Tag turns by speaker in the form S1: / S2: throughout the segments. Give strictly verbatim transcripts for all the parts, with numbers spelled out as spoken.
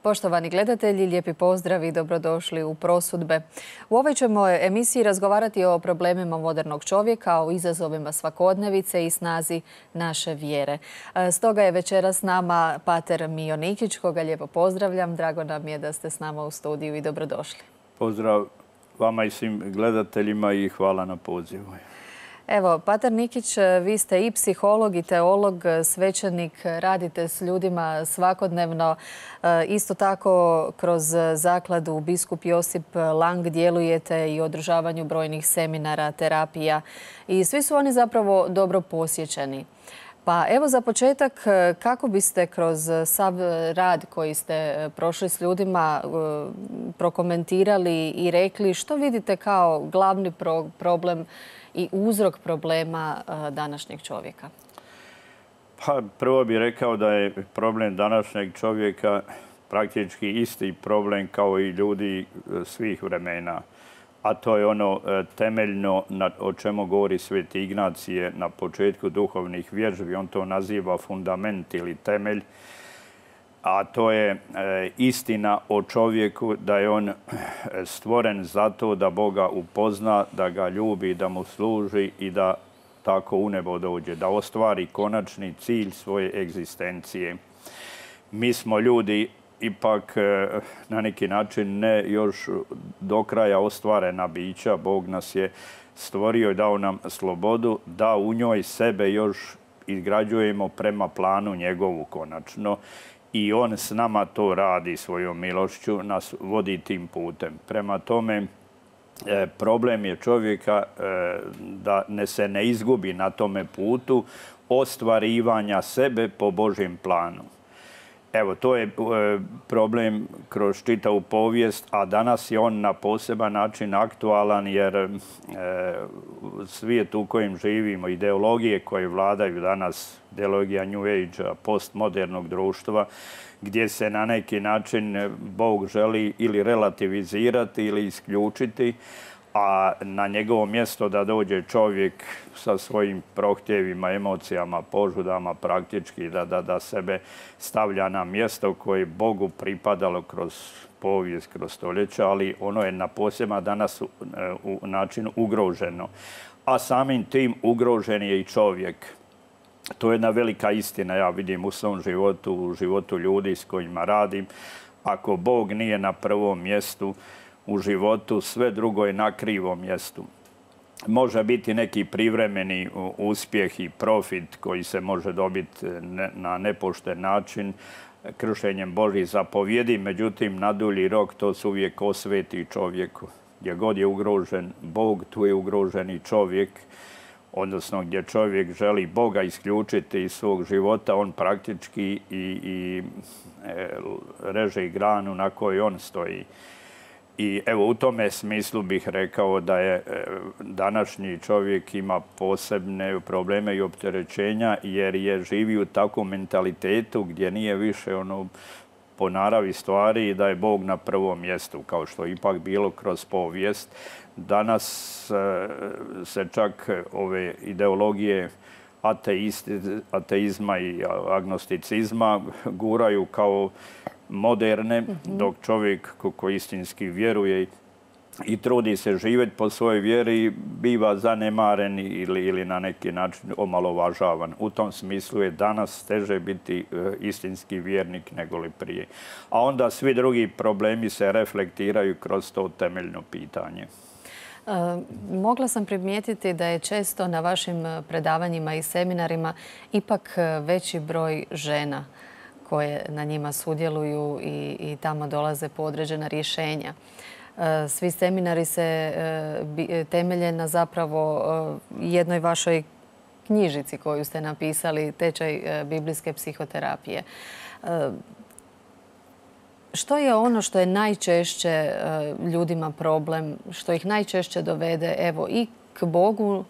S1: Poštovani gledatelji, lijepi pozdrav i dobrodošli u Prosudbe. U ovoj ćemo emisiji razgovarati o problemima modernog čovjeka, o izazovima svakodnevice i snazi naše vjere. Stoga je večeras s nama pater Mijo Nikić, koga lijepo pozdravljam. Drago nam je da ste s nama u studiju i dobrodošli.
S2: Pozdrav vama i svim gledateljima i hvala na pozivu.
S1: Evo, pater Nikić, vi ste i psiholog i teolog, svećenik, radite s ljudima svakodnevno. Isto tako kroz zakladu Biskup Josip Lang djelujete i u održavanju brojnih seminara, terapija i svi su oni zapravo dobro posjećeni. Pa evo za početak, kako biste kroz sav rad koji ste prošli s ljudima prokomentirali i rekli što vidite kao glavni problem i uzrok problema današnjeg čovjeka?
S2: Pa prvo bih rekao da je problem današnjeg čovjeka praktički isti problem kao i ljudi svih vremena. A to je ono temeljno o čemu govori Sveti Ignacije na početku duhovnih vježbi. On to naziva fundament ili temelj. A to je istina o čovjeku, da je on stvoren zato da Boga upozna, da ga ljubi, da mu služi i da tako u nebo dođe, da ostvari konačni cilj svoje egzistencije. Mi smo ljudi ipak na neki način ne još do kraja ostvarena bića. Bog nas je stvorio i dao nam slobodu da u njoj sebe još izgrađujemo prema planu njegovu konačno. I on s nama to radi svojom milošću, nas vodi tim putem. Prema tome, problem je čovjeka da se ne izgubi na tome putu ostvarivanja sebe po Božjem planu. Evo, to je problem kroz čitavu povijest, a danas je on na poseban način aktualan jer svijet u kojem živimo, ideologije koje vladaju danas, ideologija New Age-a, postmodernog društva, gdje se na neki način Bog želi ili relativizirati ili isključiti, a na njegovo mjesto da dođe čovjek sa svojim prohtjevima, emocijama, požudama praktički, da, da, da sebe stavlja na mjesto koje je Bogu pripadalo kroz povijest, kroz stoljeća, ali ono je na poseban danas u, u način ugroženo. A samim tim ugrožen je i čovjek. To je jedna velika istina, ja vidim u svom životu, u životu ljudi s kojima radim. Ako Bog nije na prvom mjestu u životu, sve drugo je na krivom mjestu. Može biti neki privremeni uspjeh i profit koji se može dobiti na nepošten način kršenjem Božjih zapovjedi, međutim na dulji rok to se uvijek osveti čovjeku. Gdje god je ugrožen Bog, tu je ugrožen i čovjek, odnosno gdje čovjek želi Boga isključiti iz svog života, on praktički i, i e, reže i granu na kojoj on stoji. I evo u tome smislu bih rekao da je današnji čovjek ima posebne probleme i opterećenja jer je živi u takvom mentalitetu gdje nije više ono po naravi stvari i da je Bog na prvom mjestu, kao što je ipak bilo kroz povijest. Danas se čak ove ideologije ateizma i agnosticizma guraju kao moderne, dok čovjek koji istinski vjeruje i trudi se živjeti po svojoj vjeri biva zanemaren ili, ili na neki način omalovažavan. U tom smislu je danas teže biti istinski vjernik nego li prije. A onda svi drugi problemi se reflektiraju kroz to temeljno pitanje.
S1: E, mogla sam primijetiti da je često na vašim predavanjima i seminarima ipak veći broj žena koje na njima sudjeluju i, i tamo dolaze po određena rješenja. Svi seminari se temelje na zapravo jednoj vašoj knjižici koju ste napisali, Tečaj biblijske psihoterapije. Što je ono što je najčešće ljudima problem, što ih najčešće dovede evo i k Bogu,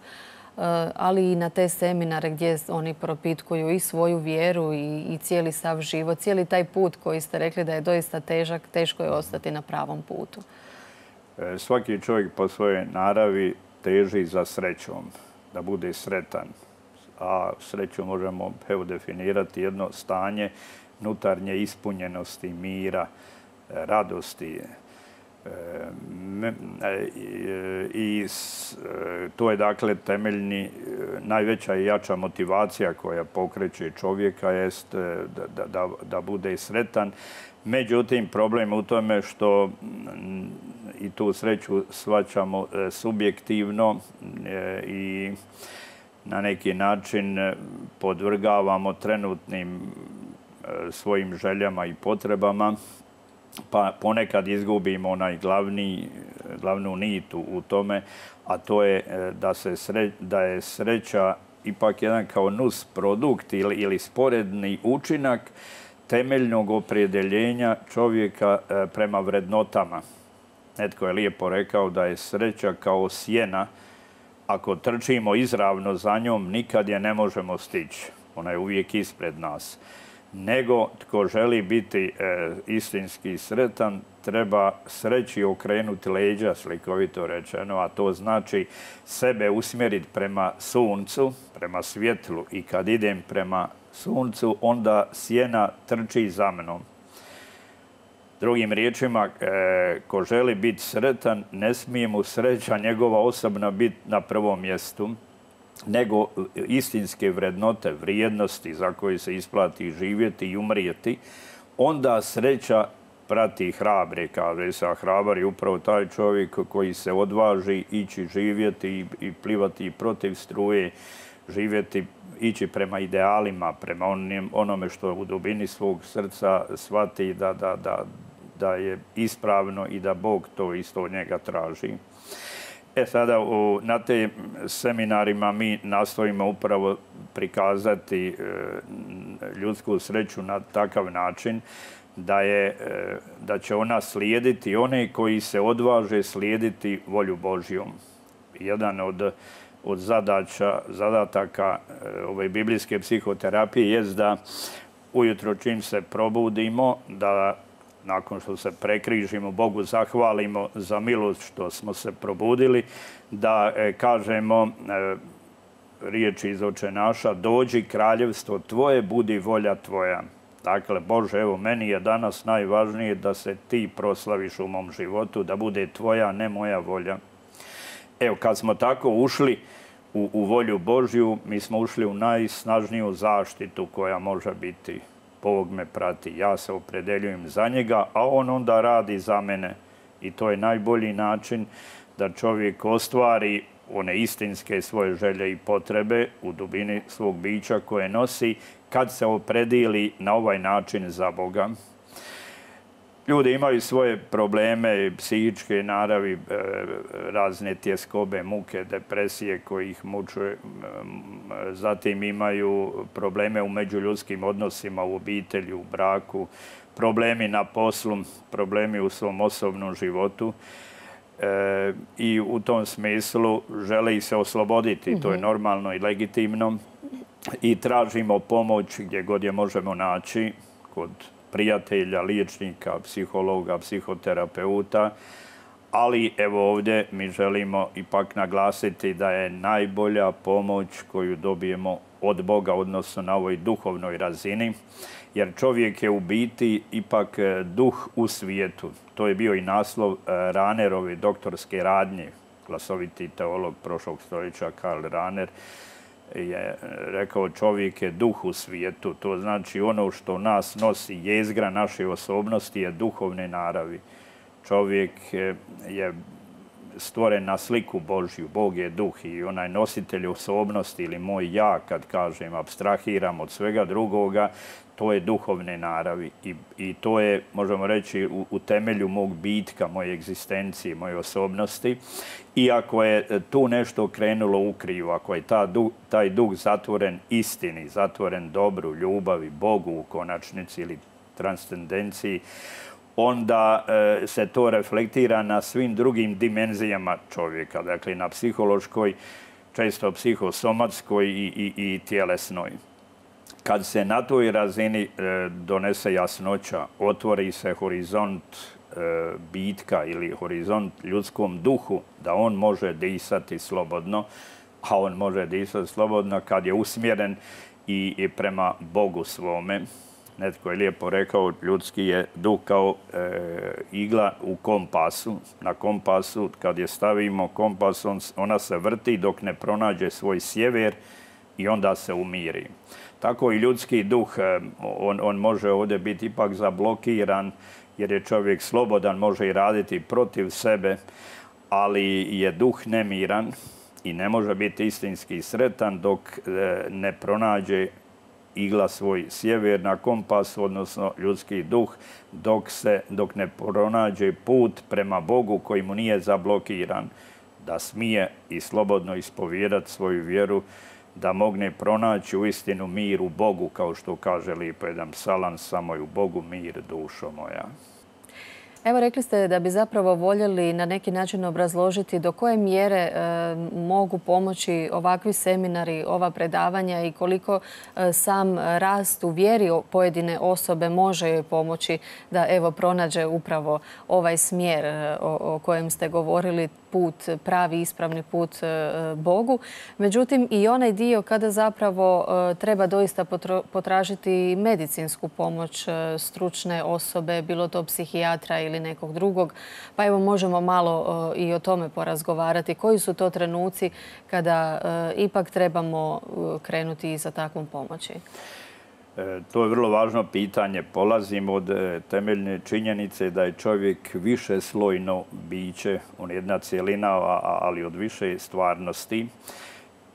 S1: ali i na te seminare gdje oni propitkuju i svoju vjeru i, i cijeli sav život, cijeli taj put koji ste rekli da je doista težak, teško je ostati na pravom putu?
S2: Svaki čovjek po svojoj naravi teži za srećom, da bude sretan. A sreću možemo evo, definirati jedno stanje unutarnje ispunjenosti, mira, radosti. I to je dakle temeljni, najveća i jača motivacija koja pokreće čovjeka jest da, da, da bude sretan. Međutim, problem u tome što i tu sreću shvaćamo subjektivno i na neki način podvrgavamo trenutnim svojim željama i potrebama, pa ponekad izgubimo onaj glavni, glavnu nit u tome, a to je da, se sre, da je sreća ipak jedan kao nus produkt ili, ili sporedni učinak temeljnog opredjeljenja čovjeka prema vrednotama. Netko je lijepo rekao da je sreća kao sjena. Ako trčimo izravno za njom, nikad je ne možemo stići. Ona je uvijek ispred nas. Nego tko želi biti e, istinski sretan, treba sreći okrenuti leđa, slikovito rečeno, a to znači sebe usmjeriti prema suncu, prema svjetlu. I kad idem prema suncu, onda sjena trči za mnom. Drugim riječima, e, ko želi biti sretan, ne smije mu sreća njegova osobna biti na prvom mjestu, nego istinske vrednote, vrijednosti za koje se isplati živjeti i umrijeti, onda sreća prati hrabre, kaže se, a hrabar je upravo taj čovjek koji se odvaži ići živjeti i, i plivati protiv struje, živjeti, ići prema idealima, prema onim, onome što u dubini svog srca shvati da, da, da, da je ispravno i da Bog to isto od njega traži. E sada, u, na te seminarima mi nastojimo upravo prikazati e, ljudsku sreću na takav način da, je, e, da će ona slijediti one koji se odvaže slijediti volju Božjom. Jedan od, od zadaća, zadataka e, ove biblijske psihoterapije jest da ujutro čim se probudimo, da nakon što se prekrižimo, Bogu zahvalimo za milost što smo se probudili, da e, kažemo e, riječi iz Oče naša, dođi kraljevstvo tvoje, budi volja tvoja. Dakle, Bože, evo, meni je danas najvažnije da se ti proslaviš u mom životu, da bude tvoja, ne moja volja. Evo, kad smo tako ušli u, u volju Božju, mi smo ušli u najsnažniju zaštitu koja može biti. Bog me prati, ja se opredeljujem za njega, a on onda radi za mene. I to je najbolji način da čovjek ostvari one istinske svoje želje i potrebe u dubini svog bića koje nosi kad se opredijeli na ovaj način za Boga. Ljudi imaju svoje probleme, psihičke naravi, razne tjeskobe, muke, depresije koji ih muče. Zatim imaju probleme u međuljudskim odnosima, u obitelji, u braku, problemi na poslu, problemi u svom osobnom životu. E, I u tom smislu žele ih se osloboditi, mm-hmm. To je normalno i legitimno. I tražimo pomoć gdje god je možemo naći, kod prijatelja, liječnika, psihologa, psihoterapeuta, ali evo ovdje mi želimo ipak naglasiti da je najbolja pomoć koju dobijemo od Boga, odnosno na ovoj duhovnoj razini, jer čovjek je u biti ipak duh u svijetu. To je bio i naslov Rahnerove doktorske radnje, glasoviti teolog prošlog stoljeća Karl Rahner je rekao čovjek je duh u svijetu. To znači ono što nas nosi, jezgra naše osobnosti je duhovne naravi. Čovjek je stvoren na sliku Božju. Bog je duh i onaj nositelj osobnosti ili moj ja, kad kažem, apstrahiram od svega drugoga, to je duhovne naravi. I, i to je, možemo reći, u, u temelju mog bitka, moje egzistencije, moje osobnosti. I ako je tu nešto krenulo u krivu, ako je ta, taj duh zatvoren istini, zatvoren dobru, ljubavi, Bogu u konačnici ili transcendenciji, onda e, se to reflektira na svim drugim dimenzijama čovjeka, dakle na psihološkoj, često psihosomatskoj i, i, i tjelesnoj. Kad se na toj razini e, donese jasnoća, otvori se horizont e, bitka ili horizont ljudskom duhu, da on može disati slobodno, a on može disati slobodno kad je usmjeren i, i prema Bogu svome. Netko je lijepo rekao, ljudski je duh kao e, igla u kompasu. Na kompasu, kad je stavimo kompas, on, ona se vrti dok ne pronađe svoj sjever i onda se umiri. Tako i ljudski duh, on, on može ovdje biti ipak zablokiran, jer je čovjek slobodan, može i raditi protiv sebe, ali je duh nemiran i ne može biti istinski sretan dok ne pronađe igla svoj sjever na kompasu, odnosno ljudski duh, dok, se, dok ne pronađe put prema Bogu koji mu nije zablokiran, da smije i slobodno ispovijedati svoju vjeru, da mogne pronaći uistinu mir u Bogu, kao što kaže lijepo jedan psalam, samo je u Bogu mir, dušo moja.
S1: Evo, rekli ste da bi zapravo voljeli na neki način obrazložiti do koje mjere e, mogu pomoći ovakvi seminari, ova predavanja i koliko e, sam rast u vjeri pojedine osobe može joj pomoći da evo pronađe upravo ovaj smjer e, o, o kojem ste govorili, put, pravi ispravni put e, Bogu. Međutim, i onaj dio kada zapravo e, treba doista potro, potražiti medicinsku pomoć e, stručne osobe, bilo to psihijatra ili nekog drugog. Pa evo možemo malo e, i o tome porazgovarati. Koji su to trenuci kada e, ipak trebamo krenuti i za takvom pomoći?
S2: To je vrlo važno pitanje. Polazim od temeljne činjenice da je čovjek više slojno biće, on je jedna cijelina, ali od više stvarnosti.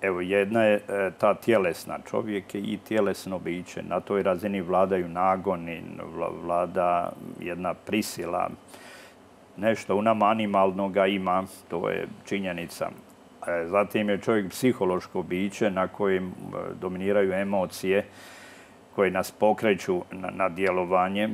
S2: Evo, jedna je ta tjelesna. Čovjek je i tjelesno biće. Na toj razini vladaju nagoni, vlada jedna prisila. Nešto u nama animalnoga ima, to je činjenica. Zatim je čovjek psihološko biće na kojem dominiraju emocije, koje nas pokreću na, na djelovanje.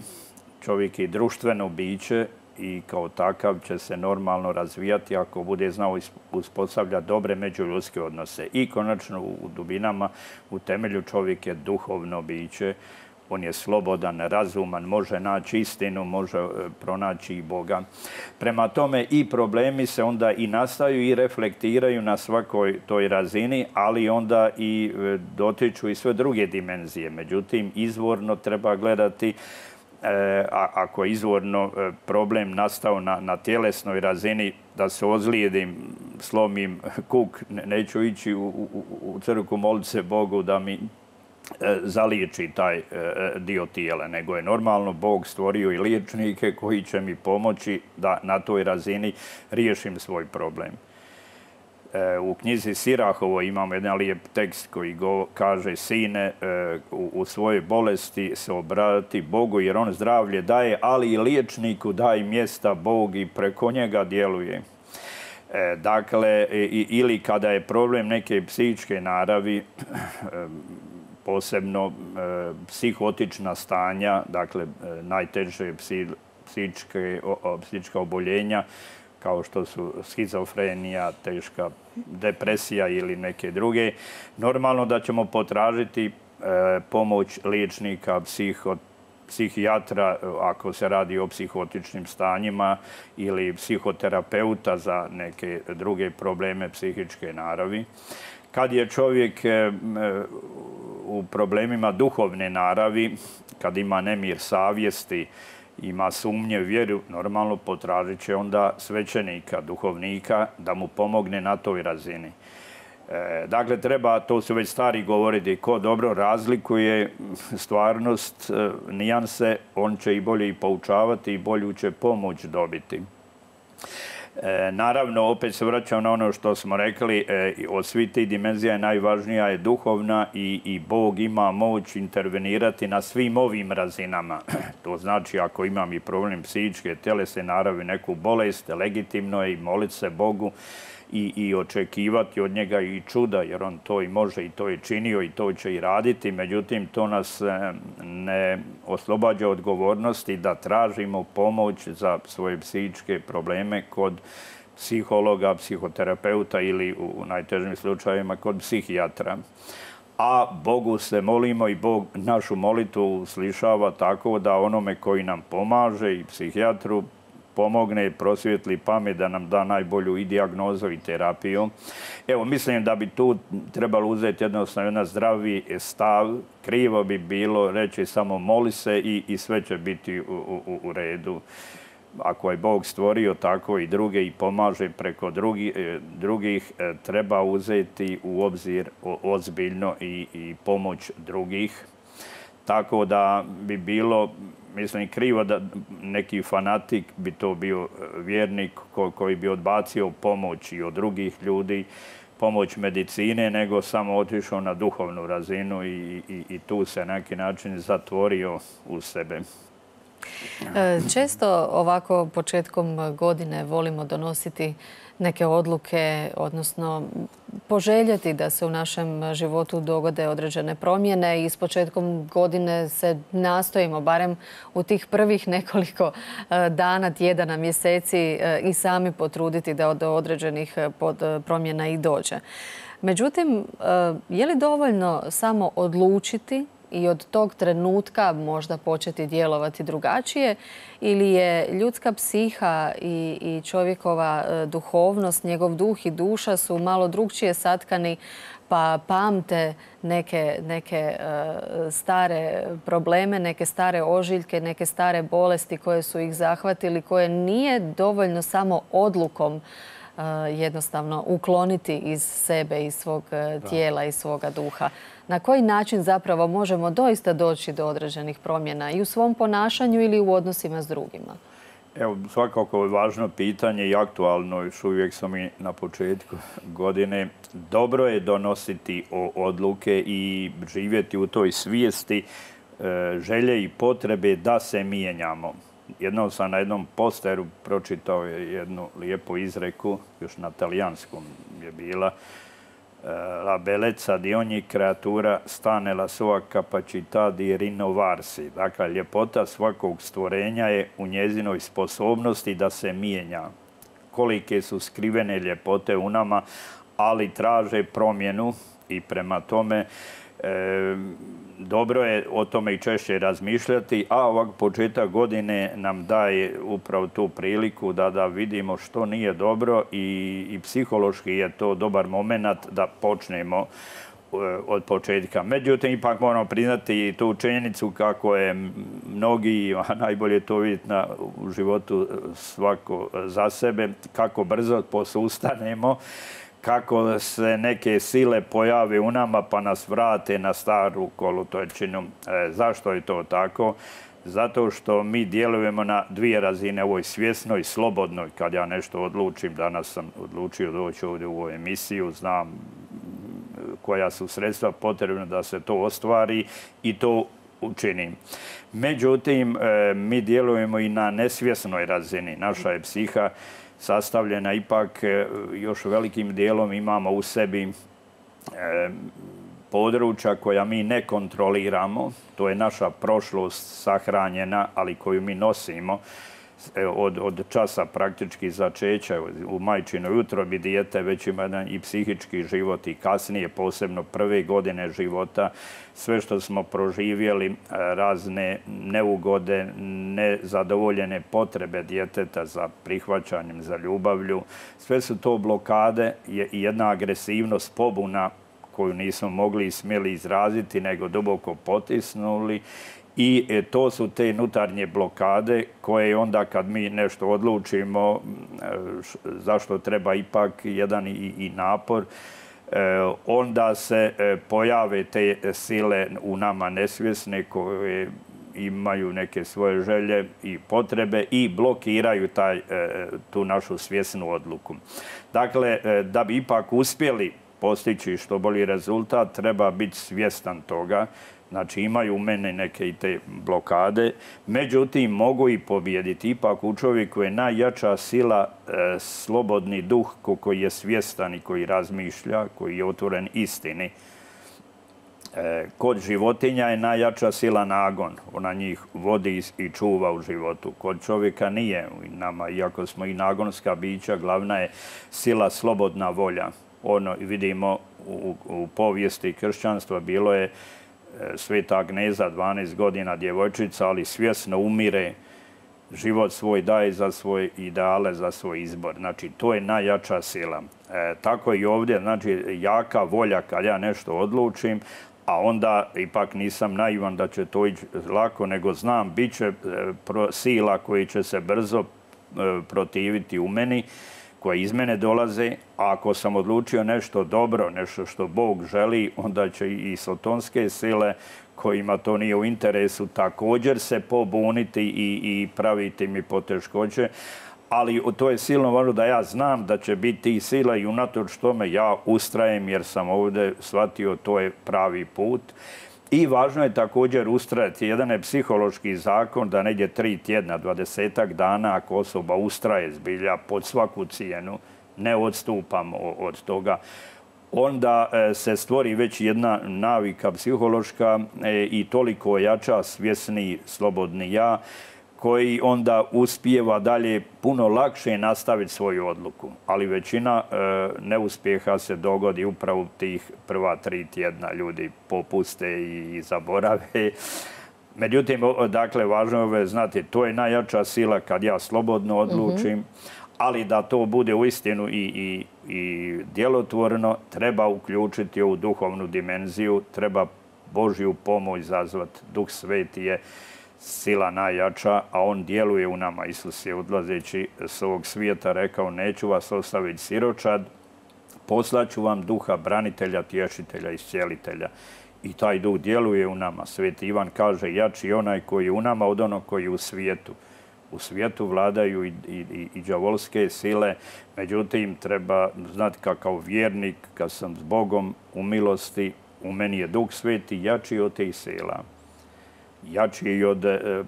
S2: Čovjek je društveno biće i kao takav će se normalno razvijati ako bude znao uspostavljati dobre međuljudske odnose. I konačno u dubinama, u temelju čovjek je duhovno biće. On je slobodan, razuman, može naći istinu, može pronaći i Boga. Prema tome i problemi se onda i nastaju i reflektiraju na svakoj toj razini, ali onda i dotiču i sve druge dimenzije. Međutim, izvorno treba gledati, a ako je izvorno problem nastao na, na tjelesnoj razini, da se ozlijedim, slomim kuk, neću ići u, u, u crkvu moliti se Bogu da mi zaliječi taj dio tijela, nego je normalno Bog stvorio i liječnike koji će mi pomoći da na toj razini riješim svoj problem. U knjizi Sirahovo imamo jedan lijep tekst koji go kaže: sine, u, u svojoj bolesti se obrati Bogu jer on zdravlje daje, ali i liječniku daje mjesta Bog i preko njega djeluje. Dakle, ili kada je problem neke psihičke naravi, posebno e, psihotična stanja, dakle e, najteže psi, psihičke, o, psihička oboljenja, kao što su schizofrenija, teška depresija ili neke druge, normalno da ćemo potražiti e, pomoć liječnika, psiho, psihijatra ako se radi o psihotičnim stanjima ili psihoterapeuta za neke druge probleme psihičke naravi. Kad je čovjek e, u problemima duhovne naravi, kad ima nemir savjesti, ima sumnje u vjeru, normalno potražit će onda svećenika, duhovnika, da mu pomogne na toj razini. E, dakle, treba, to su već stari govoriti, ko dobro razlikuje stvarnost, e, nijanse, on će i bolje i poučavati i bolju će pomoć dobiti. E, naravno, opet se vraćam na ono što smo rekli, e, od svih tih dimenzija najvažnija je duhovna i, i Bog ima moć intervenirati na svim ovim razinama. To znači, ako imam i problem psihičke, tjelesne naravi, neku bolest, legitimno je i moliti se Bogu i, i očekivati od njega i čuda, jer on to i može i to je činio i to će i raditi. Međutim, to nas ne oslobađa odgovornosti da tražimo pomoć za svoje psihičke probleme kod psihologa, psihoterapeuta ili u najtežim slučajevima kod psihijatra. A Bogu se molimo i Bog našu molitvu uslišava tako da onome koji nam pomaže i psihijatru pomogne, prosvijetli pamet da nam da najbolju i dijagnozu i terapiju. Evo, mislim da bi tu trebalo uzeti jednostavno jedan zdravi stav. Krivo bi bilo reći samo moli se i, i sve će biti u, u, u redu. Ako je Bog stvorio tako i druge i pomaže preko drugi, drugih, treba uzeti u obzir ozbiljno i, i pomoć drugih. Tako da bi bilo, mislim, krivo da neki fanatik bi to bio vjernik koji bi odbacio pomoć i od drugih ljudi, pomoć medicine, nego samo otišao na duhovnu razinu i, i, i tu se na neki način zatvorio u sebe.
S1: Često ovako početkom godine volimo donositi neke odluke, odnosno poželjeti da se u našem životu dogode određene promjene i s početkom godine se nastojimo, barem u tih prvih nekoliko dana, tjedana, mjeseci i sami potruditi da do određenih promjena i dođe. Međutim, je li dovoljno samo odlučiti i od tog trenutka možda početi djelovati drugačije ili je ljudska psiha i, i čovjekova duhovnost, njegov duh i duša su malo drugčije satkani pa pamte neke, neke uh, stare probleme, neke stare ožiljke, neke stare bolesti koje su ih zahvatili, koje nije dovoljno samo odlukom uh, jednostavno ukloniti iz sebe, iz svog uh, tijela, iz svoga duha. Na koji način zapravo možemo doista doći do određenih promjena i u svom ponašanju ili u odnosima s drugima?
S2: Evo, svakako je važno pitanje i aktualno, još uvijek sam i na početku godine. Dobro je donositi odluke i živjeti u toj svijesti želje i potrebe da se mijenjamo. Jednom sam na jednom posteru pročitao jednu lijepu izreku, još na talijanskom je bila, la bellezza di ogni creatura sta nella sua capacità di rinnovarsi. Dakle, ljepota svakog stvorenja je u njezinoj sposobnosti da se mijenja. Kolike su skrivene ljepote u nama, ali traže promjenu i prema tome e, dobro je o tome i češće razmišljati, a ovak početak godine nam daje upravo tu priliku da, da vidimo što nije dobro i, i psihološki je to dobar moment da počnemo od početka. Međutim, ipak moramo priznati i tu činjenicu kako je mnogi, a najbolje to vidjeti na, u životu svako za sebe, kako brzo posustanemo, kako se neke sile pojave u nama pa nas vrate na staru kolotečinu. E, zašto je to tako? Zato što mi djelujemo na dvije razine, ovoj svjesnoj, slobodnoj. Kad ja nešto odlučim, danas sam odlučio doći ovdje u ovu emisiju, znam koja su sredstva potrebna da se to ostvari i to učinim. Međutim, e, mi djelujemo i na nesvjesnoj razini. Naša je psiha sastavljena ipak još velikim dijelom imamo u sebi e, područja koja mi ne kontroliramo. To je naša prošlost sahranjena, ali koju mi nosimo od, od časa praktički začeća u majčinoj utrobi dijete već ima jedan i psihički život i kasnije, posebno prve godine života. Sve što smo proživjeli, razne neugode, nezadovoljene potrebe djeteta za prihvaćanjem, za ljubavlju, sve su to blokade i jedna agresivnost, pobuna koju nismo mogli i smjeli izraziti, nego duboko potisnuli. I to su te unutarnje blokade koje onda kad mi nešto odlučimo, zašto treba ipak jedan i, i napor, onda se pojave te sile u nama nesvjesne koje imaju neke svoje želje i potrebe i blokiraju taj, tu našu svjesnu odluku. Dakle, da bi ipak uspjeli postići što bolji rezultat, treba biti svjestan toga. Znači, imaju u mene neke i te blokade, međutim, mogu i pobijediti. Ipak u čovjeku je najjača sila e, slobodni duh koji je svjestan i koji razmišlja, koji je otvoren istini. E, kod životinja je najjača sila nagon. Ona njih vodi i čuva u životu. Kod čovjeka nije. Nama, iako smo i nagonska bića, glavna je sila slobodna volja. Ono vidimo u, u povijesti kršćanstva bilo je Sveta Agneza, dvanaest godina djevojčica, ali svjesno umire život svoj daje za svoje ideale, za svoj izbor. Znači, to je najjača sila. E, tako i ovdje, znači, jaka volja kad ja nešto odlučim, a onda ipak nisam naivan da će to ići lako, nego znam, bit će sila koji će se brzo protiviti u meni, koje iz mene dolaze, a ako sam odlučio nešto dobro, nešto što Bog želi, onda će i sotonske sile kojima to nije u interesu također se pobuniti i, i praviti mi poteškoće. Ali to je silno važno da ja znam da će biti sila i unatoč tome ja ustrajem jer sam ovdje shvatio to je pravi put. I važno je također ustrajati. Jedan je psihološki zakon da negdje tri tjedna, dvadesetak dana, ako osoba ustraje zbilja pod svaku cijenu, ne odstupam od toga, onda se stvori već jedna navika psihološka i toliko jača, svjesni, slobodni ja, koji onda uspijeva dalje puno lakše nastaviti svoju odluku. Ali većina e, neuspjeha se dogodi upravo tih prva tri tjedna. Ljudi popuste i, i zaborave. Međutim, dakle, važno je znati, to je najjača sila kad ja slobodno odlučim, mm-hmm. ali da to bude uistinu i, i, i djelotvorno, treba uključiti ovu duhovnu dimenziju, treba Božju pomoć zazvati. Duh Sveti je sila najjača, a on djeluje u nama. Isus je odlazeći s ovog svijeta rekao, neću vas ostaviti siročad, poslaću vam duha branitelja, tješitelja, iscijelitelja. I taj duh djeluje u nama. Sveti Ivan kaže, jači je onaj koji je u nama od onog koji je u svijetu. U svijetu vladaju i, i, i đavolske sile, međutim treba znati kakav vjernik, kad sam s Bogom u milosti, u meni je Duh Sveti jači od tih sila. Jači i od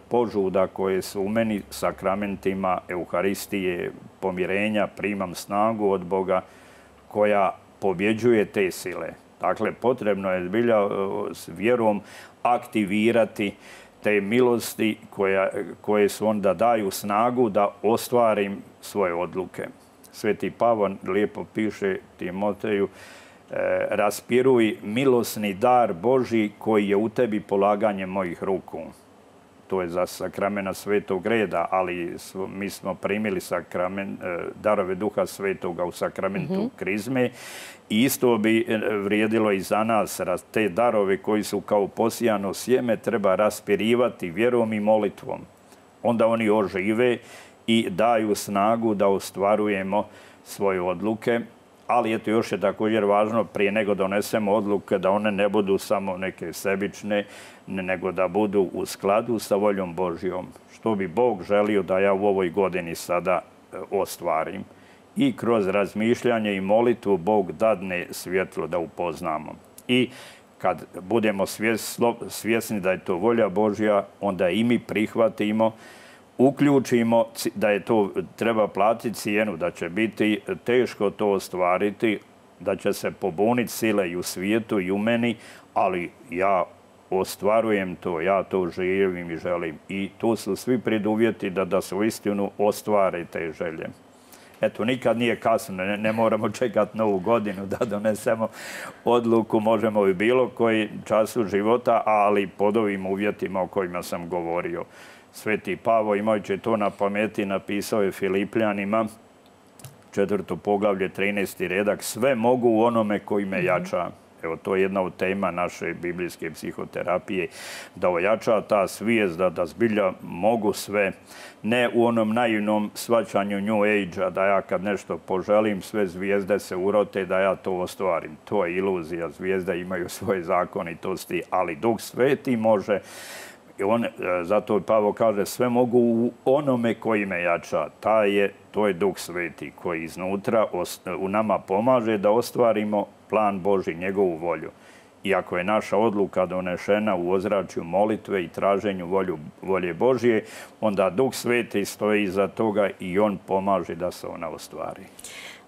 S2: požuda koje su u meni, sakramentima, Euharistije, pomirenja, primam snagu od Boga koja pobjeđuje te sile. Dakle, potrebno je zbilja s vjerom aktivirati te milosti koja, koje su onda daju snagu da ostvarim svoje odluke. Sveti Pavao lijepo piše Timoteju, raspiruj milosni dar Božji koji je u tebi polaganjem mojih ruku. To je za sakramena Svetog reda, ali mi smo primili sakramen, darove Duha Svetoga u sakramentu mm-hmm. krizme. I isto bi vrijedilo i za nas. Te darove koji su kao posijano sjeme treba raspirivati vjerom i molitvom. Onda oni ožive i daju snagu da ostvarujemo svoje odluke. Ali eto, još je također važno prije nego donesemo odluke da one ne budu samo neke sebične, nego da budu u skladu sa voljom Božjom. Što bi Bog želio da ja u ovoj godini sada ostvarim. I kroz razmišljanje i molitvu Bog dadne svjetlo da upoznamo. I kad budemo svjesni da je to volja Božja, onda i mi prihvatimo, uključimo da je to treba platiti cijenu, da će biti teško to ostvariti, da će se pobuniti sile i u svijetu i u meni, ali ja ostvarujem to, ja to živim i želim. I tu su svi preduvjeti da, da se uistinu ostvare te želje. Eto, nikad nije kasno, ne, ne moramo čekati novu godinu da donesemo odluku, možemo i bilo koji času života, ali pod ovim uvjetima o kojima sam govorio. Sveti Pavao, imajući to na pameti, napisao je Filipljanima, četvrto poglavlje, trinaesti redak, sve mogu u onome koji me jača. Evo, to je jedna od tema naše biblijske psihoterapije, da ojača ta svijest, da, da zbilja mogu sve, ne u onom naivnom shvaćanju New Age-a, da ja kad nešto poželim, sve zvijezde se urote, da ja to ostvarim. To je iluzija, zvijezde imaju svoje zakonitosti, ali Duh Sveti može. I on, zato Pavao kaže, sve mogu u onome koji me jača. Ta je, to je Duh Sveti koji iznutra u nama pomaže da ostvarimo plan Božji, njegovu volju. I ako je naša odluka donešena u ozračju molitve i traženju volju, volje Božje, onda Duh Sveti stoji iza toga i on pomaže da se ona ostvari.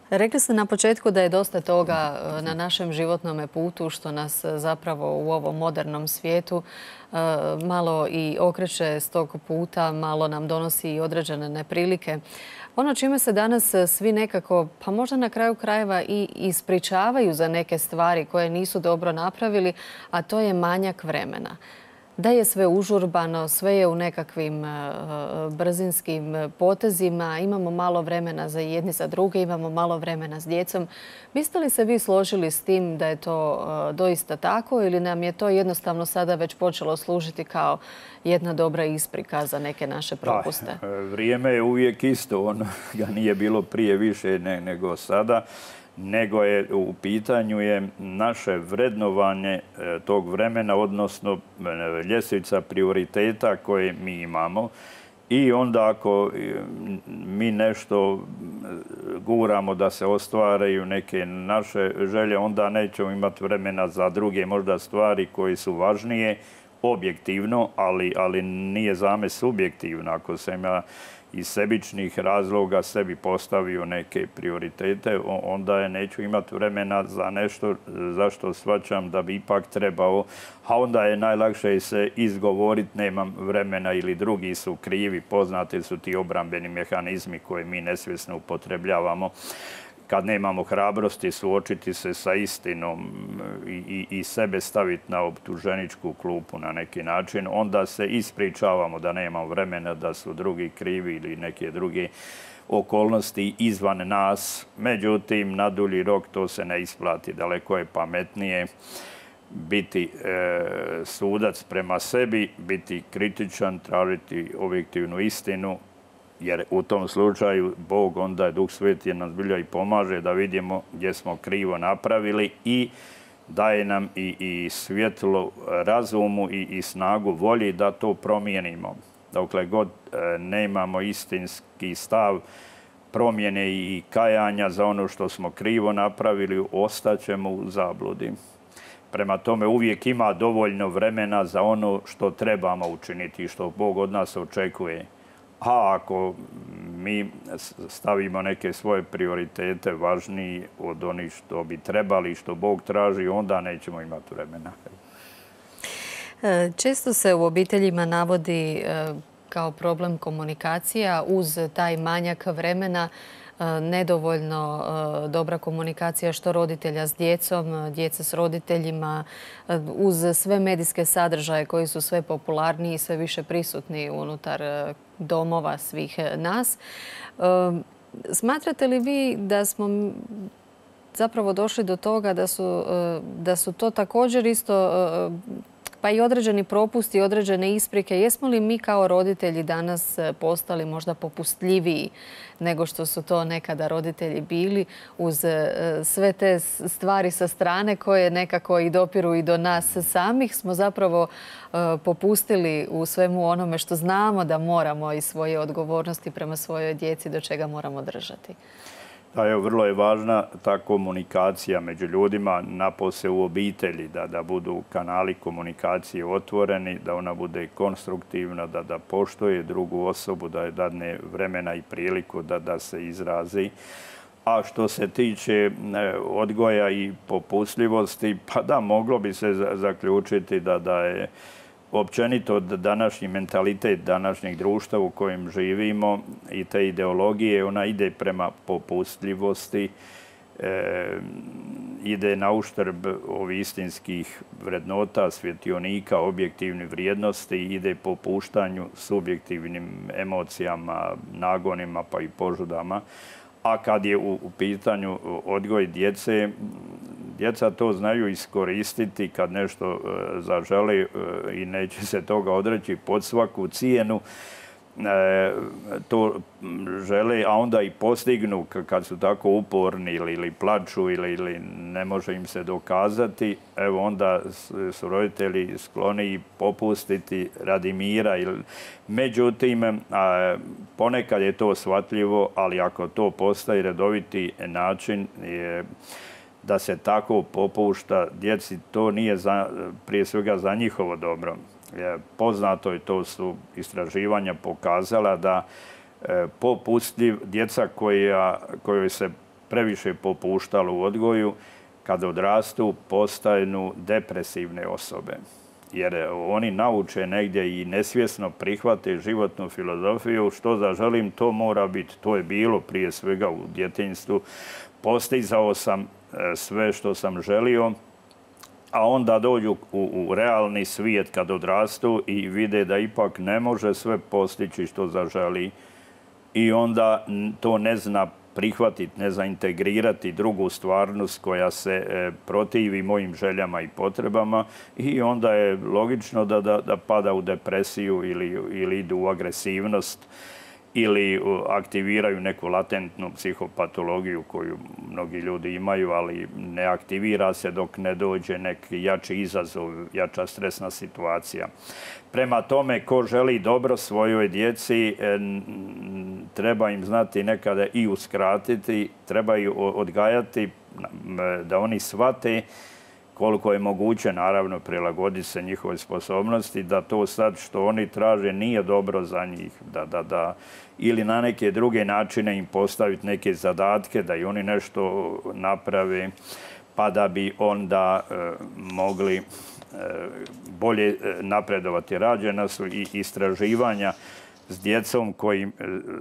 S1: Rekli ste na početku da je dosta toga na našem životnom putu što nas zapravo u ovom modernom svijetu malo i okreće s tog puta, malo nam donosi i određene neprilike. Ono čime se danas svi nekako, pa možda na kraju krajeva i ispričavaju za neke stvari koje nisu dobro napravili, a to je manjak vremena. da je sve užurbano, sve je u nekakvim brzinskim potezima, imamo malo vremena za jedni za druge, imamo malo vremena s djecom. Biste li se vi složili s tim da je to doista tako ili nam je to jednostavno sada već počelo služiti kao jedna dobra isprika za neke naše propuste?
S2: Da, vrijeme je uvijek isto, ono ga nije bilo prije više nego sada, nego je u pitanju je naše vrednovanje tog vremena, odnosno ljestvica prioriteta koje mi imamo. I onda ako mi nešto guramo da se ostvaraju neke naše želje, onda nećemo imati vremena za druge možda stvari koje su važnije, objektivno, ali, ali nije zame subjektivno. Ako sam ja iz sebičnih razloga sebi postavio neke prioritete, onda je neću imati vremena za nešto za što shvaćam da bi ipak trebao, a onda je najlakše se izgovoriti nemam vremena ili drugi su krivi, poznati su ti obrambeni mehanizmi koje mi nesvjesno upotrebljavamo. Kad nemamo hrabrosti suočiti se sa istinom i, i, i sebe staviti na optuženičku klupu na neki način, onda se ispričavamo da nemamo vremena, da su drugi krivi ili neke druge okolnosti izvan nas. Međutim, na dulji rok to se ne isplati. Daleko je pametnije biti e, sudac prema sebi, biti kritičan, tražiti objektivnu istinu, jer u tom slučaju Bog, onda je Duh Sveti nam zbilja i pomaže da vidimo gdje smo krivo napravili i daje nam i, i svjetlo razumu i, i snagu volji da to promijenimo. Dokle god e, nemamo istinski stav promjene i kajanja za ono što smo krivo napravili, ostaćemo u zabludi. Prema tome uvijek ima dovoljno vremena za ono što trebamo učiniti i što Bog od nas očekuje. A ako mi stavimo neke svoje prioritete važniji od onih što bi trebali i što Bog traži, onda nećemo imati vremena.
S1: Često se u obiteljima navodi kao problem komunikacija uz taj manjak vremena, nedovoljno dobra komunikacija što roditelja s djecom, djeca s roditeljima, uz sve medijske sadržaje koji su sve popularniji i sve više prisutni unutar domova svih nas. Smatrate li vi da smo zapravo došli do toga da su, da su to također isto pa i određeni propusti, određene isprike? Jesmo li mi kao roditelji danas postali možda popustljiviji nego što su to nekada roditelji bili uz sve te stvari sa strane koje nekako i dopiru i do nas samih? Smo zapravo popustili u svemu onome što znamo da moramo i svoje odgovornosti prema svojoj djeci do čega moramo držati.
S2: Da, evo, vrlo je važna ta komunikacija među ljudima, napose u obitelji, da, da budu kanali komunikacije otvoreni, da ona bude konstruktivna, da, da poštuje drugu osobu, da je dadne vremena i priliku da, da se izrazi. A što se tiče odgoja i popustljivosti, pa da, moglo bi se zaključiti da, da je općenito današnji mentalitet današnjeg društva u kojem živimo i te ideologije, ona ide prema popustljivosti, e, ide na uštrb ovih istinskih vrednota, svjetionika, objektivnih vrijednosti, ide po puštanju subjektivnim emocijama, nagonima pa i požudama. A kad je u, u pitanju odgoj djece, djeca to znaju iskoristiti kad nešto e, zažele e, i neće se toga odreći pod svaku cijenu. E, to žele, a onda i postignu kad su tako uporni ili, ili plaču ili, ili ne može im se dokazati. Evo onda su roditelji skloni popustiti radi mira. Međutim, a, ponekad je to shvatljivo, ali ako to postaje redoviti način je da se tako popušta djeci, to nije za, prije svega za njihovo dobro. Poznato je, to su istraživanja pokazala da popustljiv djeca koja, kojoj se previše popuštalo u odgoju, kad odrastu postanu depresivne osobe. Jer oni nauče negdje i nesvjesno prihvate životnu filozofiju, što zaželim, to mora biti. To je bilo prije svega u djetinjstvu. Postizao sam sve što sam želio, a onda dođu u, u realni svijet kad odrastu i vide da ipak ne može sve postići što zaželi i onda to ne zna prihvatiti, ne zna integrirati drugu stvarnost koja se e, protivi mojim željama i potrebama i onda je logično da, da, da pada u depresiju ili, ili idu u agresivnost ili aktiviraju neku latentnu psihopatologiju koju mnogi ljudi imaju, ali ne aktivira se dok ne dođe neki jači izazov, jača stresna situacija. Prema tome, ko želi dobro svojoj djeci, treba im znati nekada i uskratiti, treba ih odgajati da oni shvate koliko je moguće, naravno, prilagoditi se njihove sposobnosti, da to sad što oni traže nije dobro za njih, da, da, da, ili na neke druge načine im postaviti neke zadatke, da i oni nešto naprave, pa da bi onda e, mogli e, bolje napredovati. Rađena su i istraživanja s djecom koji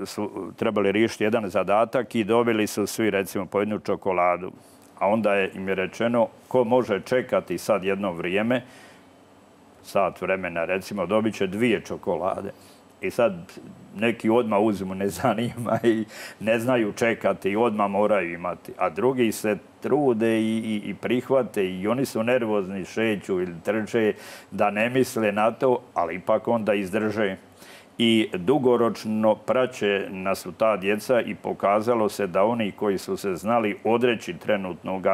S2: su trebali riješiti jedan zadatak i dobili su svi, recimo, po jednu čokoladu. A onda je im je rečeno ko može čekati sad jedno vrijeme, sat vremena recimo, dobit će dvije čokolade. I sad neki odmah uzmu, ne zanima i ne znaju čekati i odmah moraju imati. A drugi se trude i, i, i prihvate i oni su nervozni, šeću ili trče da ne misle na to, ali ipak onda izdrže. I dugoročno praće nas u ta djeca i pokazalo se da oni koji su se znali odreći trenutnog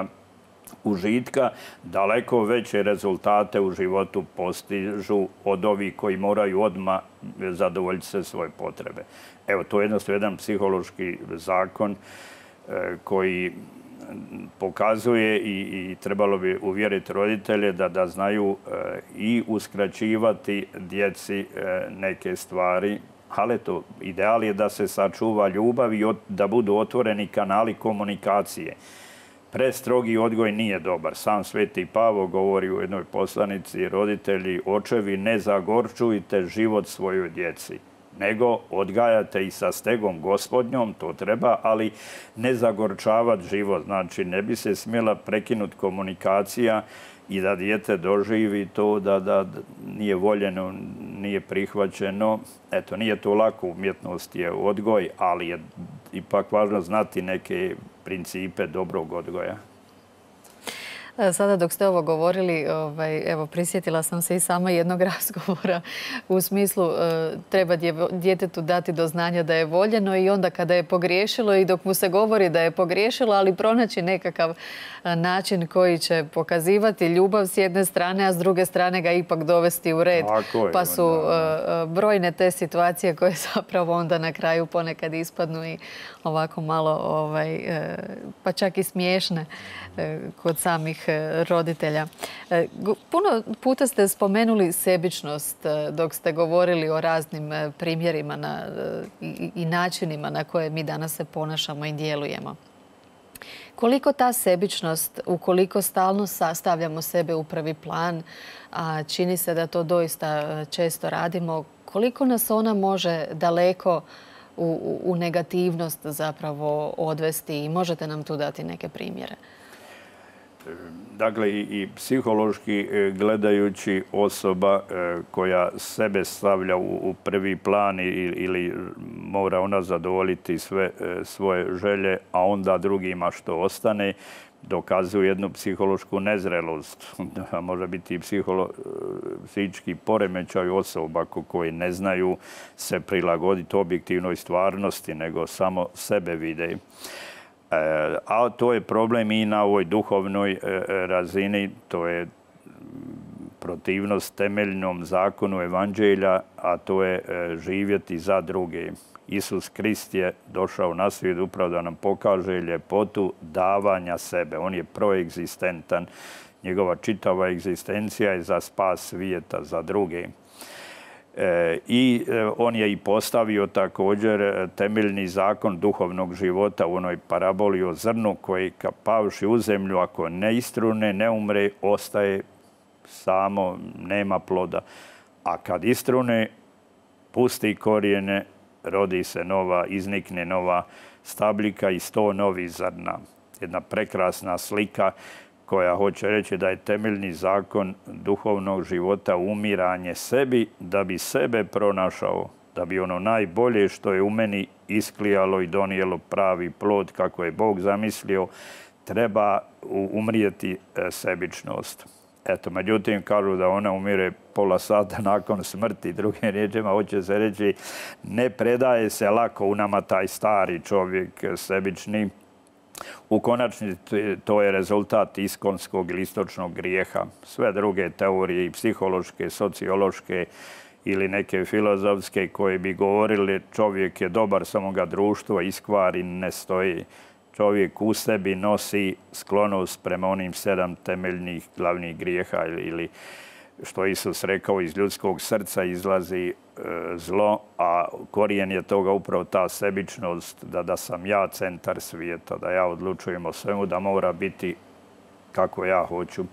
S2: užitka daleko veće rezultate u životu postižu od ovih koji moraju odmah zadovoljiti se svoje potrebe. Evo, to je jednostavno jedan psihološki zakon koji pokazuje i, i trebalo bi uvjeriti roditelje da, da znaju e, i uskraćivati djeci e, neke stvari, ali to ideal je da se sačuva ljubav i od, da budu otvoreni kanali komunikacije. Prestrogi odgoj nije dobar. Sam Sveti Pavo govori u jednoj poslanici: roditelji, očevi, ne zagorčujte život svojoj djeci, nego odgajate i sa stegom gospodnjom, to treba, ali ne zagorčavati život. Znači, ne bi se smjela prekinuti komunikacija i da dijete doživi to da, da nije voljeno, nije prihvaćeno. Eto, nije to lako, umjetnost je odgoj, ali je ipak važno znati neke principe dobrog odgoja.
S1: Sada dok ste ovo govorili, ovaj, evo, prisjetila sam se i sama jednog razgovora u smislu e, treba djetetu dati do znanja da je voljeno i onda kada je pogriješilo i dok mu se govori da je pogriješilo, ali pronaći nekakav način koji će pokazivati ljubav s jedne strane, a s druge strane ga ipak dovesti u red.
S2: Je,
S1: pa su e, brojne te situacije koje zapravo onda na kraju ponekad ispadnu i ovako malo, ovaj, e, pa čak i smiješne e, kod samih roditelja. Puno puta ste spomenuli sebičnost dok ste govorili o raznim primjerima na, i, i načinima na koje mi danas se ponašamo i djelujemo. Koliko ta sebičnost, ukoliko stalno stavljamo sebe u prvi plan, a čini se da to doista često radimo, koliko nas ona može daleko u, u negativnost zapravo odvesti i možete nam tu dati neke primjere?
S2: Dakle, i psihološki gledajući osoba koja sebe stavlja u prvi plan ili mora ona zadovoljiti sve svoje želje, a onda drugima što ostane, dokazuje jednu psihološku nezrelost. Može biti i psihički poremećaj osoba koji ne znaju se prilagoditi objektivnoj stvarnosti, nego samo sebe vide. A to je problem i na ovoj duhovnoj razini, to je protivnost temeljnom zakonu evanđelja, a to je živjeti za druge. Isus Krist je došao na svijet upravo da nam pokaže ljepotu davanja sebe. On je proegzistentan. Njegova čitava egzistencija je za spas svijeta, za druge. I on je i postavio također temeljni zakon duhovnog života u onoj paraboli o zrnu koji pavši u zemlju, ako ne istrune, ne umre, ostaje samo, nema ploda. A kad istrune, pusti korijene, rodi se nova, iznikne nova stabljika i sto novih zrna. Jedna prekrasna slika koja hoće reći da je temeljni zakon duhovnog života umiranje sebi da bi sebe pronašao, da bi ono najbolje što je u meni isklijalo i donijelo pravi plod kako je Bog zamislio, treba umrijeti sebičnost. Eto, međutim, kažu da ona umire pola sata nakon smrti. Drugim riječima, hoće se reći, ne predaje se lako u nama taj stari čovjek sebični. U konačnici to je rezultat iskonskog ili istočnog grijeha. Sve druge teorije, i psihološke, sociološke ili neke filozofske, koje bi govorili čovjek je dobar, samo ga društvo iskvari, ne stoji. Čovjek u sebi nosi sklonost prema onim sedam temeljnih glavnih grijeha ili što Isus rekao, iz ljudskog srca izlazi zlo, a korijen je toga upravo ta sebičnost, da, da sam ja centar svijeta, da ja odlučujem o svemu, da mora biti kako ja hoću.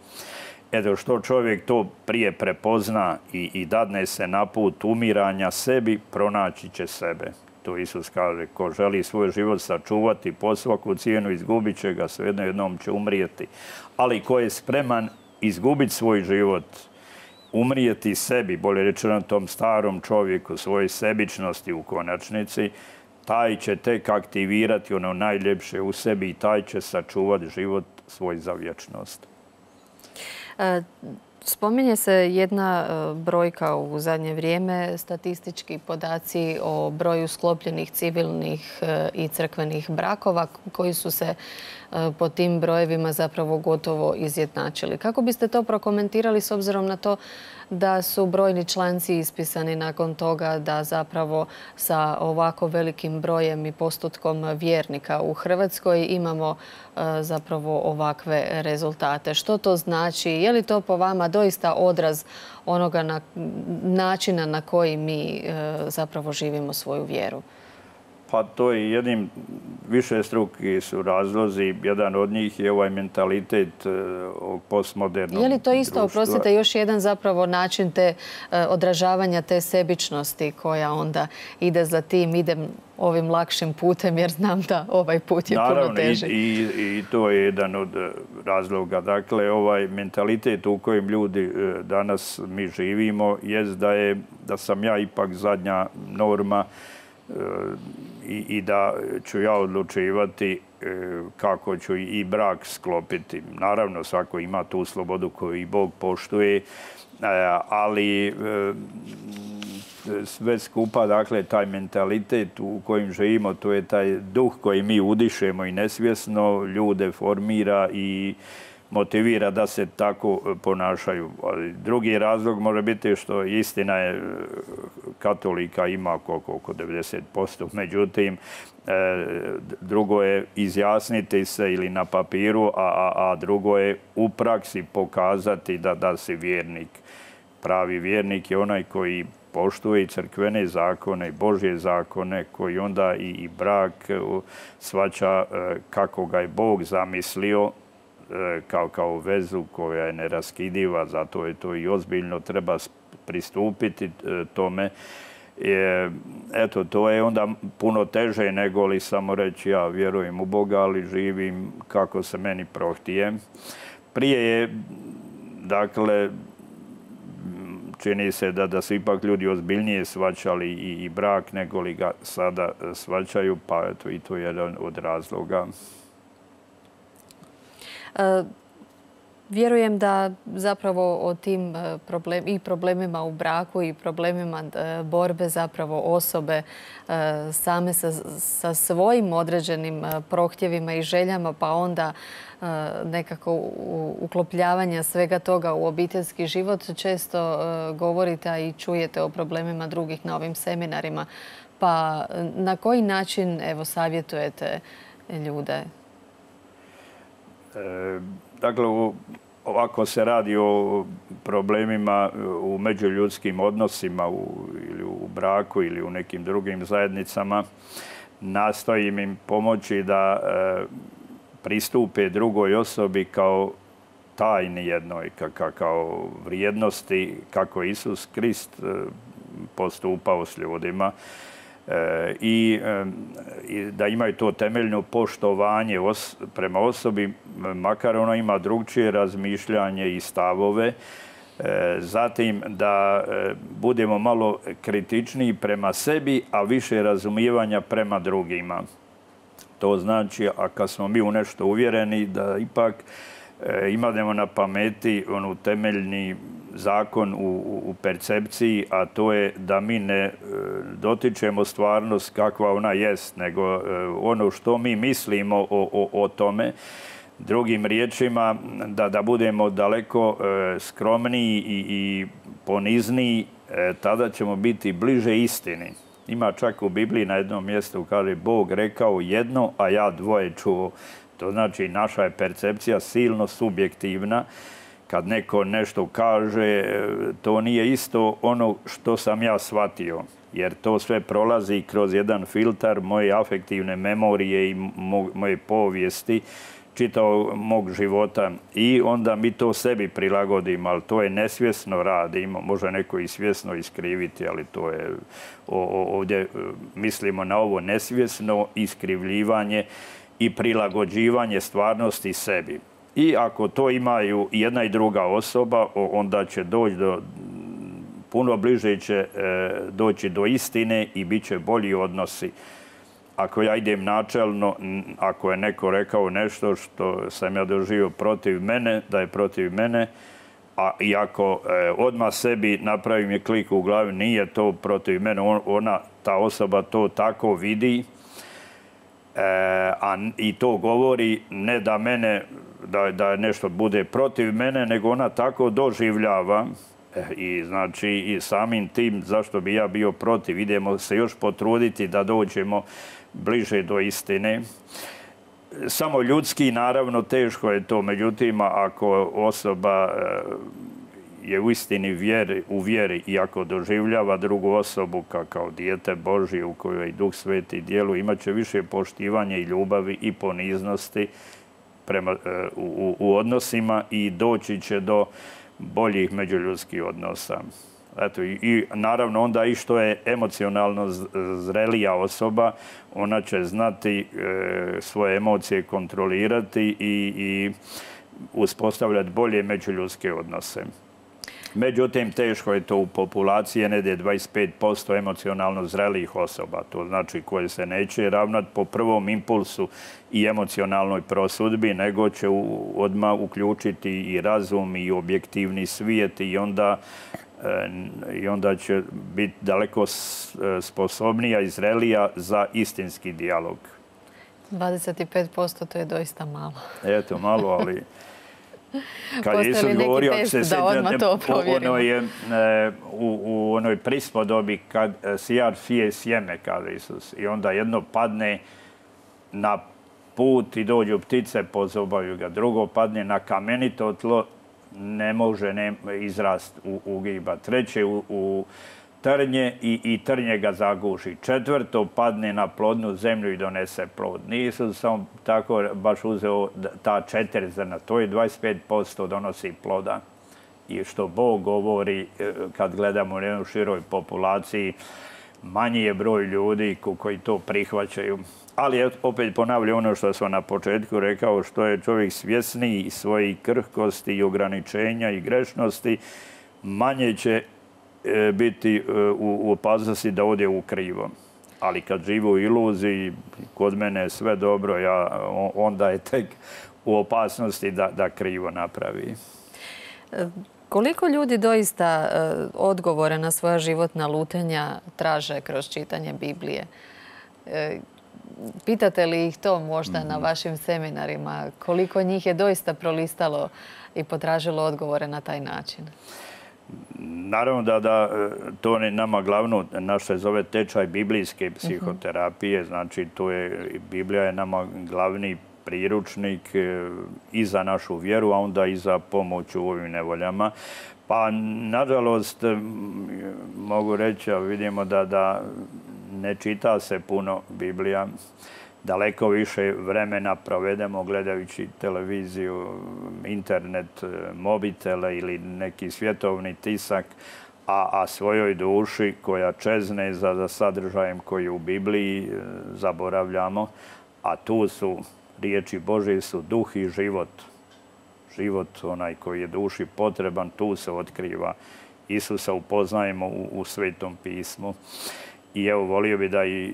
S2: Eto, što čovjek to prije prepozna i, i dadne se na put umiranja sebi, pronaći će sebe. To Isus kaže, ko želi svoj život sačuvati po svaku cijenu, izgubit će ga, svejedno jednom će umrijeti. Ali ko je spreman izgubiti svoj život, umrijeti sebi, bolje rečeno tom starom čovjeku, svoje sebičnosti u konačnici, taj će tek aktivirati ono najljepše u sebi i taj će sačuvati život svoj za vječnost.
S1: E, spominje se jedna brojka u zadnje vrijeme, statistički podaci o broju sklopljenih civilnih i crkvenih brakova koji su se po tim brojevima zapravo gotovo izjednačili. Kako biste to prokomentirali s obzirom na to da su brojni članci ispisani nakon toga, da zapravo sa ovako velikim brojem i postotkom vjernika u Hrvatskoj imamo zapravo ovakve rezultate? Što to znači? Je li to po vama doista odraz onoga na, načina na koji mi zapravo živimo svoju vjeru?
S2: Pa to je jednim višestruki su razlozi. Jedan od njih je ovaj mentalitet postmodernog društva.
S1: Je li to isto, oprostite, još jedan zapravo način te odražavanja te sebičnosti koja onda ide za tim, idem ovim lakšim putem jer znam da ovaj put je puno teži?
S2: Naravno, i, i to je jedan od razloga. Dakle, ovaj mentalitet u kojem ljudi danas mi živimo jest da, je, da sam ja ipak zadnja norma I, i da ću ja odlučivati kako ću i brak sklopiti. Naravno, svako ima tu slobodu koju i Bog poštuje, ali sve skupa, dakle, taj mentalitet u kojem živimo, to je taj duh koji mi udišemo i nesvjesno ljude formira i motivira da se tako ponašaju. Drugi razlog može biti što istina je katolika ima oko devedeset posto. Međutim, drugo je izjasniti se ili na papiru, a, a drugo je u praksi pokazati da, da si vjernik. Pravi vjernik je onaj koji poštuje i crkvene zakone, Božje zakone, koji onda i, i brak shvaća kako ga je Bog zamislio, Kao, kao vezu koja je neraskidiva, zato je to i ozbiljno treba pristupiti tome. E, eto, to je onda puno teže nego li samo reći ja vjerujem u Boga, ali živim kako se meni prohtije. Prije je, dakle, čini se da, da su ipak ljudi ozbiljnije shvaćali i, i brak nego li ga sada shvaćaju, pa eto, i to je jedan od razloga.
S1: Vjerujem da zapravo o tim problem, i problemima u braku i problemima borbe zapravo osobe same sa, sa svojim određenim prohtjevima i željama, pa onda nekako uklopljavanja svega toga u obiteljski život, često govorite i čujete o problemima drugih na ovim seminarima. Pa na koji način, evo, savjetujete ljude?
S2: Dakle, ovako se radi o problemima u međuljudskim odnosima u, ili u braku ili u nekim drugim zajednicama. Nastojim im pomoći da e, pristupe drugoj osobi kao tajni jednoj, ka, kao vrijednosti, kako Isus Krist postupao s ljudima. i da imaju to temeljno poštovanje prema osobi, makar ono ima drugčije razmišljanje i stavove. Zatim da budemo malo kritičniji prema sebi, a više razumijevanja prema drugima. To znači, a kad smo mi u nešto uvjereni, da ipak imamo na pameti onu temeljni zakon u, u percepciji, a to je da mi ne dotičemo stvarnost kakva ona jest, nego ono što mi mislimo o, o, o tome. Drugim riječima, da, da budemo daleko e, skromniji i, i ponizniji, e, tada ćemo biti bliže istini. Ima čak u Bibliji na jednom mjestu, kaže, Bog rekao jedno, a ja dvoje čuo. To znači, naša je percepcija silno subjektivna. Kad neko nešto kaže, to nije isto ono što sam ja shvatio. Jer to sve prolazi kroz jedan filtar moje afektivne memorije i moje povijesti, čitao mog života, i onda mi to sebi prilagodimo, ali to je nesvjesno radimo. Može neko i svjesno iskriviti, ali to je ovdje mislimo na ovo nesvjesno iskrivljivanje i prilagođivanje stvarnosti sebi. I ako to imaju jedna i druga osoba, onda će doći do, puno bliže će doći do istine i bit će bolji odnosi. Ako ja idem načelno, ako je neko rekao nešto što sam ja doživio protiv mene, da je protiv mene, a i ako e, odmah sebi napravim je klik u glavi, nije to protiv mene, ona, ta osoba to tako vidi, e, a i to govori ne da mene, da, da nešto bude protiv mene, nego ona tako doživljava. I znači i samim tim zašto bi ja bio protiv, idemo se još potruditi da dođemo bliže do istine. Samo ljudski, naravno, teško je to, međutim, ako osoba je u istini vjeri, u vjeri i ako doživljava drugu osobu kao dijete Božje u kojoj i Duh Sveti djeluje, imat će više poštivanja i ljubavi i poniznosti prema, u, u odnosima i doći će do boljih međuljudskih odnosa. Eto, i, i naravno onda i što je emocionalno zrelija osoba, ona će znati e, svoje emocije kontrolirati i, i uspostavljati bolje međuljudske odnose. Međutim, teško je to u populaciji, negdje dvadeset pet posto emocionalno zrelijih osoba. To znači koje se neće ravnati po prvom impulsu i emocionalnoj prosudbi, nego će u, odmah uključiti i razum i objektivni svijet i onda, e, i onda će biti daleko sposobnija i zrelija za istinski dijalog.
S1: dvadeset pet posto to je doista malo.
S2: Eto, malo, ali... Kad je Isus govorio, ako se sjećate, ono je, e, u, u onoj prispodobi kad sijar sije sjeme, kaže Isus, i onda jedno padne na put i dođu ptice, pozobaju ga. Drugo padne na kamenito tlo, ne može ne, izrast u, ugiba. Treće u, u trnje i, i trnje ga zaguši. Četvrto padne na plodnu zemlju i donese plod. Nisu sam tako baš uzeo ta četiri zrna. To je dvadeset pet posto donosi ploda. I što Bog govori kad gledamo u jednoj široj populaciji, manji je broj ljudi koji to prihvaćaju. Ali opet ponavljam ono što sam na početku rekao, što je čovjek svjesniji svojih krhkosti i ograničenja i grešnosti, manje će biti u opasnosti da ode u krivo. Ali kad živi u iluziji, kod mene je sve dobro, ja, onda je tek u opasnosti da, da krivo napravi.
S1: Koliko ljudi doista odgovore na svoja životna lutanja traže kroz čitanje Biblije? Pitate li ih to možda na vašim seminarima? Koliko njih je doista prolistalo i potražilo odgovore na taj način?
S2: Naravno da, da to je nama glavno, naš se zove tečaj biblijske psihoterapije, znači to je, Biblija je nama glavni priručnik i za našu vjeru, a onda i za pomoć u ovim nevoljama. Pa, nažalost, mogu reći, vidimo da, da ne čita se puno Biblija. Daleko više vremena provedemo gledajući televiziju, internet, mobitele ili neki svjetovni tisak, a, a svojoj duši koja čezne za, za sadržajem koji u Bibliji e, zaboravljamo, a tu su riječi Božje su duh i život. Život, onaj koji je duši potreban, tu se otkriva. Isusa upoznajemo u, u Svetom pismu. I evo, volio bi da i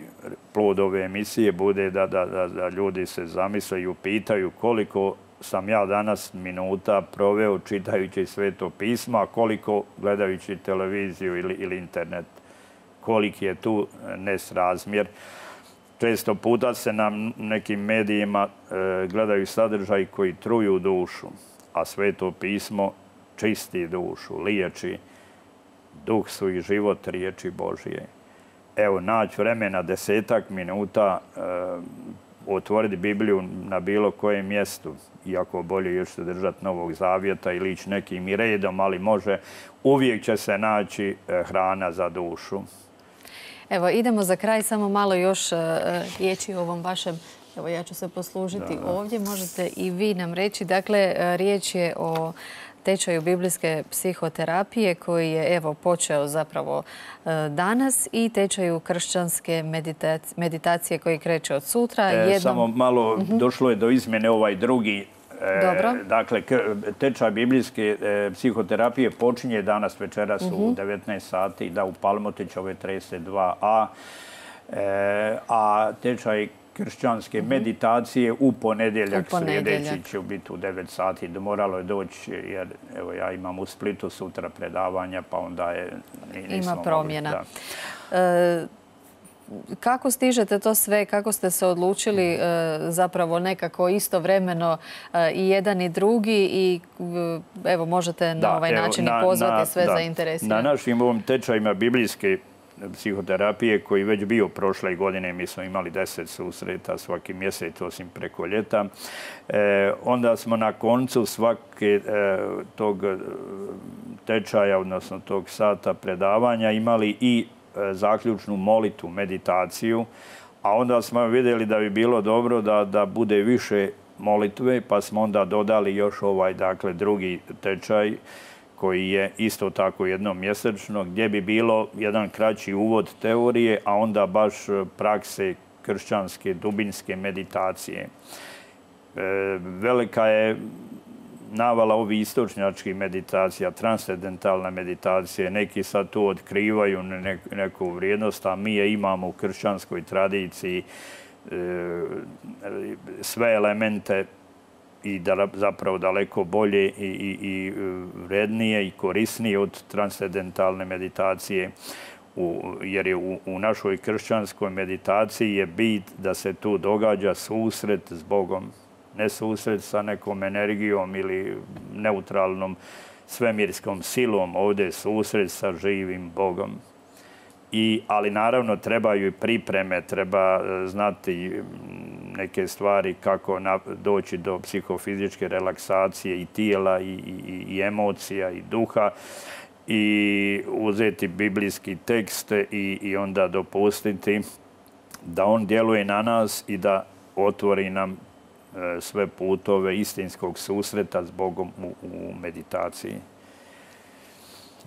S2: plod ove emisije bude da, da, da, da ljudi se zamisle i upitaju koliko sam ja danas minuta proveo čitajući Sveto pismo, a koliko gledajući televiziju ili, ili internet. Koliki je tu nesrazmjer. Često puta se na nekim medijima e, gledaju sadržaji koji truju dušu, a Sveto pismo čisti dušu, liječi. Duh su i život riječi Božije. Evo, naći vremena desetak minuta, e, otvoriti Bibliju na bilo kojem mjestu, iako bolje još se držati Novog Zavjeta ili ići nekim i redom, ali može, uvijek će se naći e, hrana za dušu.
S1: Evo, idemo za kraj, samo malo još uh, riječi o ovom vašem, evo ja ću se poslužiti da, da. ovdje, možete i vi nam reći. Dakle, riječ je o tečaju biblijske psihoterapije koji je evo počeo zapravo uh, danas i tečaju kršćanske meditacije, meditacije koji kreće od sutra.
S2: E, Jednom... Samo malo, uh-huh. došlo je do izmjene ovaj drugi.
S1: Dobro.
S2: Dakle, tečaj biblijske psihoterapije počinje danas večeras uh-huh. u devetnaest sati, da u Palmotićove trideset dva a, a tečaj kršćanske uh-huh. meditacije u ponedjeljak, u ponedjeljak sljedeći će biti u devet sati. Moralo je doći jer evo, ja imam u Splitu sutra predavanja, pa onda je nismo
S1: Ima promjena.
S2: Mogli,
S1: e, Kako stižete to sve? Kako ste se odlučili zapravo nekako istovremeno i jedan i drugi i evo možete na da, ovaj evo, način na, pozvati na, sve da, zainteresirane?
S2: Na našim ovim tečajima biblijske psihoterapije koji već bio prošle godine, mi smo imali deset susreta svaki mjesec osim preko ljeta. E, onda smo na koncu svake e, tog tečaja, odnosno tog sata predavanja imali i zaključnu molitu, meditaciju, a onda smo vidjeli da bi bilo dobro da, da bude više molitve, pa smo onda dodali još ovaj, dakle, drugi tečaj koji je isto tako jednom mjesečno, gdje bi bilo jedan kraći uvod teorije, a onda baš prakse kršćanske, dubinske meditacije. E, velika je navala ovi istočnjačkih meditacija, transcendentalna meditacija, neki sad tu otkrivaju neku vrijednost, a mi je imamo u kršćanskoj tradiciji sve elemente i da, zapravo daleko bolje i, i, i vrednije i korisnije od transcendentalne meditacije. U, jer je u, u našoj kršćanskoj meditaciji je bit da se tu događa susret s Bogom. Ne susret sa nekom energijom ili neutralnom svemirskom silom, ovdje je susret sa živim Bogom. I, ali naravno trebaju i pripreme, treba znati neke stvari kako na, doći do psihofizičke relaksacije i tijela i, i, i emocija i duha i uzeti biblijski tekst i, i onda dopustiti da on djeluje na nas i da otvori nam sve putove istinskog susreta s Bogom u, u meditaciji.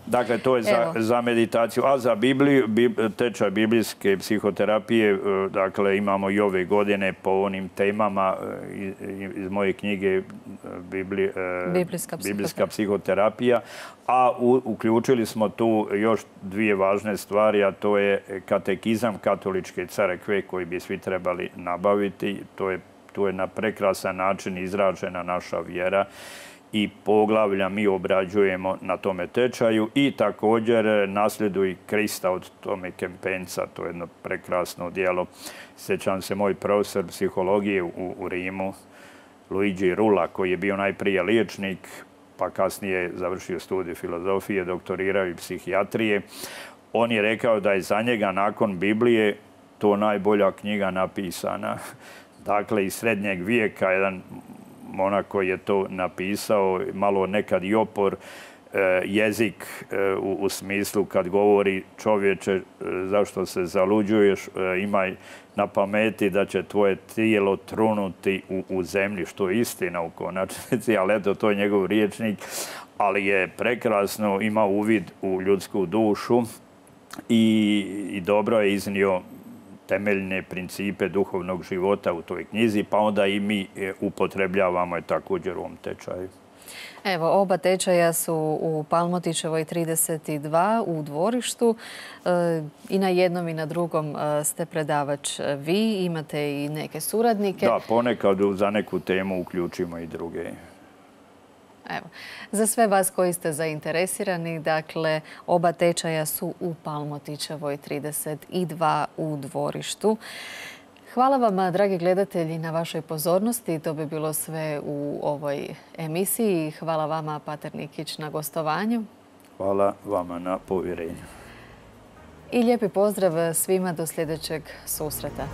S2: Dakle, to je za, za meditaciju. A za Bibliju, bib, tečaj biblijske psihoterapije, dakle, imamo i ove godine po onim temama iz, iz moje knjige Bibli,
S1: Biblijska,
S2: Biblijska psihoterapija, a u, uključili smo tu još dvije važne stvari, a to je katekizam katoličke crkve koji bi svi trebali nabaviti. To je Tu je na prekrasan način izražena naša vjera i poglavlja mi obrađujemo na tome tečaju i također Nasljeduj Krista od Tome Kempensa. To je jedno prekrasno djelo. Sjećam se moj profesor psihologije u, u Rimu, Luigi Rula, koji je bio najprije liječnik, pa kasnije završio studij filozofije, doktorirao i psihijatrije. On je rekao da je za njega nakon Biblije to najbolja knjiga napisana. Dakle, iz srednjeg vijeka, jedan monak koji je to napisao, malo nekad i opor, jezik u, u smislu kad govori čovječe zašto se zaluđuješ, imaj na pameti da će tvoje tijelo trunuti u, u zemlji, što je istina u konačnici, ali eto, to je njegov riječnik. ali je prekrasno, ima uvid u ljudsku dušu i, i dobro je iznio temeljne principe duhovnog života u toj knjizi, pa onda i mi upotrebljavamo je također u ovom tečaju.
S1: Evo, oba tečaja su u Palmotićevoj trideset dva u Dvorištu. I na jednom i na drugom ste predavač vi. Imate i neke suradnike.
S2: Da, ponekad za neku temu uključimo i druge.
S1: Evo, za sve vas koji ste zainteresirani, dakle, oba tečaja su u Palmotićevoj trideset dva u Dvorištu. Hvala vam, dragi gledatelji, na vašoj pozornosti. To bi bilo sve u ovoj emisiji. Hvala vama, pater Nikić, na gostovanju.
S2: Hvala vama na povjerenju.
S1: I lijepi pozdrav svima do sljedećeg susreta.